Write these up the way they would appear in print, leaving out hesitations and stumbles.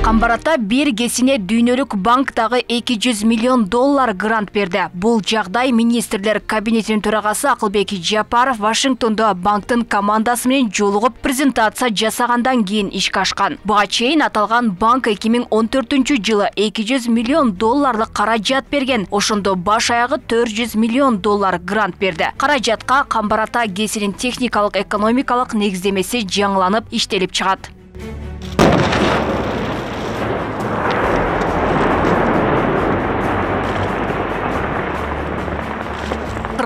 Камбарата бир кесине дүйнөлүк банктагы 200 миллион доллар грант берди. Бул жагдай министрлер кабинетинин төрагасы Акылбек Жапаров Вашингтондо банктын командасы менен жолугуп презентация жасагандан кийин ишке ашкан. Буга чейин аталган банк 2014-жылы 200 миллион долларлык каражат берген. Ошондо баш аягы 400 миллион доллар грант берди. Каражатка Камбарата ГЭСинин техникалык экономикалык негиздемеси жаңыланып иштелип чыгат.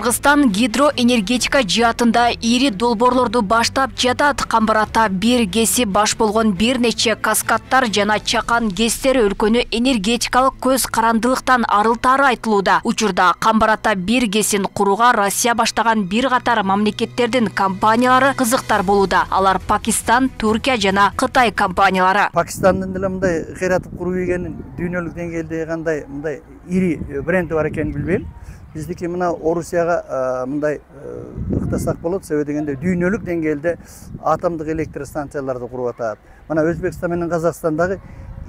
Кыргызстан гидроэнергетика жаатында ири долбоорлорду баштап жатат. Камбарата бир ГЭСи баш болгон бир нече каскадтар жана чакан ГЭСтер өлкөнү энергетикалык көз карандылыктан арылтаары айтылууда. Учурда Камбарата бир ГЭСин курууга Россия баштаган бир катар мамлекеттердин компаниялары кызыктар болууда. Алар Пакистан, Туркия жана Кытай компаниялары. Пакистандын деле мындай кыйратып куруу дегенин дүйнөлүк деңгээлде кандай мындай ири бренди бар экенин билбейм. Биздики мына Орусияга мындай ыктасак болот, себеби дегенде дүйнөлүк деңгээлде атомдук электр станцияларды куруп атат. Мына Өзбекстан менен Казакстандагы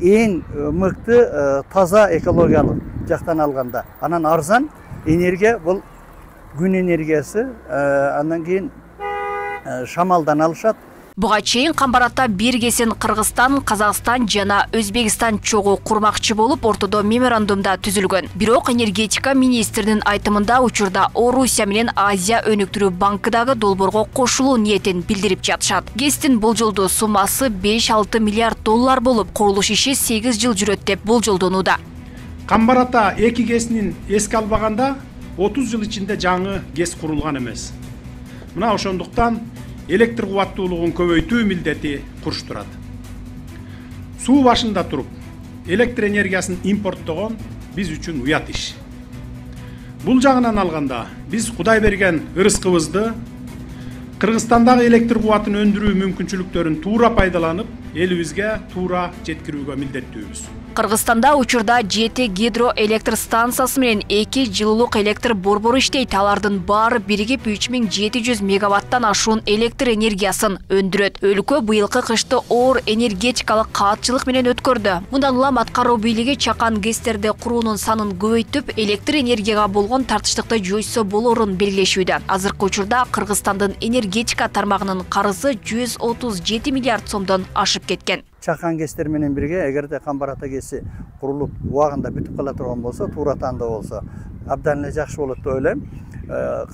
эң мыкты таза экологиялык жактан алганда. Анан арзан энергия бул күн энергиясы, андан кийин шамалдан алышат. Буга чейин Камбарата бир ГЭСин Кыргызстан, Казакстан жана Өзбекстан чогуу курмакчы болуп ортодо меморандумда түзүлгөн. Бирок энергетика министринин айтымында учурда Орусия менен Азия өнүктүрүү банкыдагы долбоорго кошулуу ниетин билдирип жатышат. ГЭСтин болжолдуу суммасы 5-6 миллиард доллар болуп, курулуш иши 8 жыл жүрөт деп болжолдонууда. Камбарата 2 ГЭСин эске албаганда 30 жыл ичинде жаңы ГЭС курулган эмес. Мына ошондуктан электр кубаттуулугун көбөйтүү милдети куруштурат. Суу башында туруп, электр энергиясын импорттогон биз үчүн уят иш. Бул жагынан алганда, биз Кудай берген ырыскыбызды Кыргызстандагы электр кубатын өндүрүү мүмкүнчүлүктөрүн туура пайдаланып, элибизге туура жеткирүүгө милдеттүүбүз. Кыргызстанда учурда 7 гидроэлектр станциясы менен 2 жылуулук электр борбору иштейт. Алардын баары биригип 3700 мегаваттан ашуун электр энергиясын өндүрөт. Өлкө быйылкы кышты оор энергетикалык каатчылык менен өткөрдү. Мындан улам аткаруу бийлиги чакан ГЭСтерди куруунун санын көбөйтүп, электр энергияга болгон тартыштыкты жойсо болорун белгилешүүдө. Азыркы учурда Кыргызстандын энергетика тармагынын карызы 137 миллиард сомдон ашып кеткен. Чакан ГЭСтер менен бирге эгерде Камбарата ГЭСи курулуп убагында бүтүп кала турган болсо, туура тандоо болсо, абдан эле жакшы болот деп ойлойм.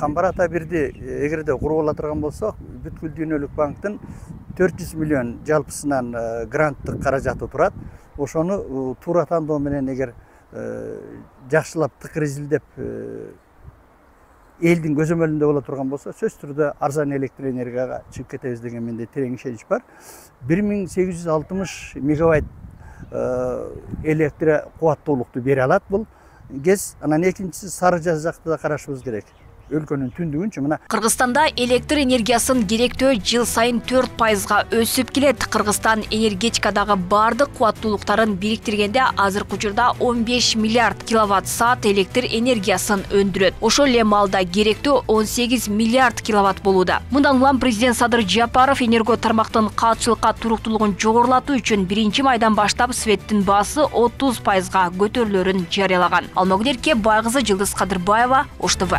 Камбарата бирди эгерде куруп ала турган болсок, бүткүл дүйнөлүк банктын 400 миллион жалпысынан гранттык каражаты турат. Ошону туура тандоо менен эгер жакшылап тыкыр изилдеп элдин көзөмөлүндө боло турган болсо, сөзсүз түрдө арзан электр энергияга чыгып кетебиз деген менде терең ишенич бар. 1860 мегавайт электр кубаттуулукту бере алат бул ГЭС. Анан экинчиси Сары Жаз жакта да карашыбыз керек. Өлкөнүн түндүгүнчү мына Кыргызстанда электр энергиясын керектөө жыл сайын 4%га өсүп келет. Кыргызстан энергетикадагы бардык кубаттуулуктарын бириктиргенде азыркы учурда 15 миллиард киловатт-саат электр энергиясын өндүрөт. Ошол эле маалда керектөө 18 миллиард киловатт болууда. Мындан улам президент Садыр Жапаров энерго тармактын каатчылыкка туруктуулугун жогорулатуу үчүн 1-майдан баштап светтин баасы 30%га көтөрүлөрүн жарыялаган. Алмагүл Эрке, Байгызы, Жылдыз Кадырбаева, Ош ТВ.